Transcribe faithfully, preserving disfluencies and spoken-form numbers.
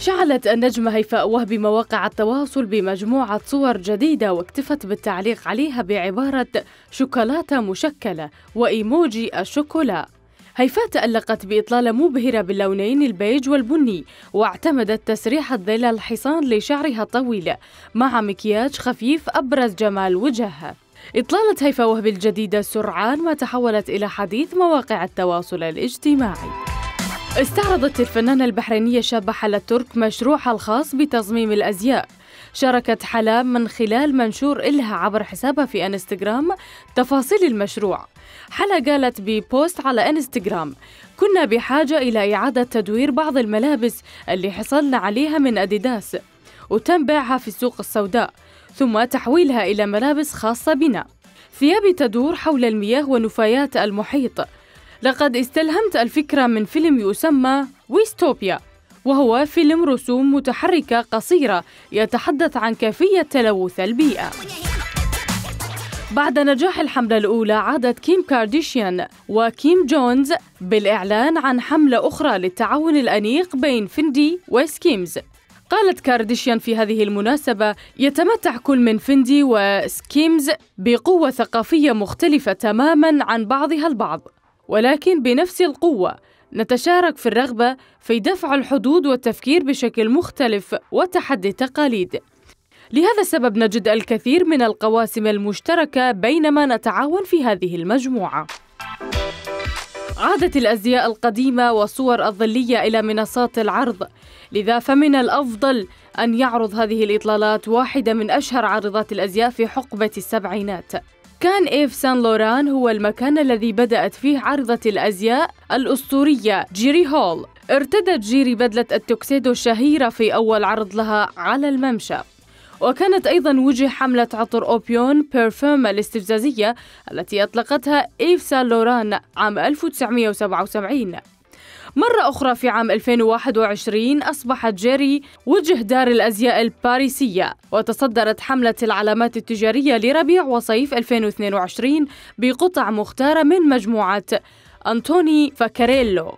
شعلت النجمة هيفاء وهبي مواقع التواصل بمجموعة صور جديدة، واكتفت بالتعليق عليها بعبارة شوكولاتة مشكلة وإيموجي الشوكولا. هيفاء تألقت بإطلالة مبهرة باللونين البيج والبني، واعتمدت تسريحة ظل الحصان لشعرها الطويل مع مكياج خفيف أبرز جمال وجهها. إطلالة هيفاء وهبي الجديدة سرعان ما تحولت إلى حديث مواقع التواصل الاجتماعي. استعرضت الفنانة البحرينية شابة حلا ترك مشروعها الخاص بتصميم الأزياء. شاركت حلا من خلال منشور إلها عبر حسابها في انستغرام تفاصيل المشروع. حلا قالت ببوست على انستغرام: كنا بحاجة إلى إعادة تدوير بعض الملابس اللي حصلنا عليها من أديداس وتم بيعها في السوق السوداء، ثم تحويلها إلى ملابس خاصة بنا. ثيابي تدور حول المياه ونفايات المحيط. لقد استلهمت الفكرة من فيلم يسمى ويستوبيا، وهو فيلم رسوم متحركة قصيرة يتحدث عن كيفية تلوث البيئة. بعد نجاح الحملة الأولى، عادت كيم كارديشيان وكيم جونز بالإعلان عن حملة أخرى للتعاون الأنيق بين فيندي وسكيمز. قالت كارديشيان في هذه المناسبة: يتمتع كل من فيندي وسكيمز بقوة ثقافية مختلفة تماماً عن بعضها البعض، ولكن بنفس القوة نتشارك في الرغبة في دفع الحدود والتفكير بشكل مختلف وتحدي التقاليد. لهذا السبب نجد الكثير من القواسم المشتركة بينما نتعاون في هذه المجموعة. عادت الأزياء القديمة والصور الظلية إلى منصات العرض، لذا فمن الأفضل أن يعرض هذه الإطلالات واحدة من أشهر عارضات الأزياء في حقبة السبعينات. كان إيف سان لوران هو المكان الذي بدأت فيه عارضة الأزياء الأسطورية جيري هول. ارتدت جيري بدلة التوكسيدو الشهيرة في أول عرض لها على الممشى، وكانت أيضاً وجه حملة عطر أوبيون بيرفوم الاستفزازية التي أطلقتها إيف سان لوران عام ألف وتسعمائة وسبعة وسبعين. مرة أخرى في عام ألفين وواحد وعشرين أصبحت جيري وجه دار الأزياء الباريسية، وتصدرت حملة العلامات التجارية لربيع وصيف ألفين واثنين وعشرين بقطع مختارة من مجموعة أنتوني فاكاريلو.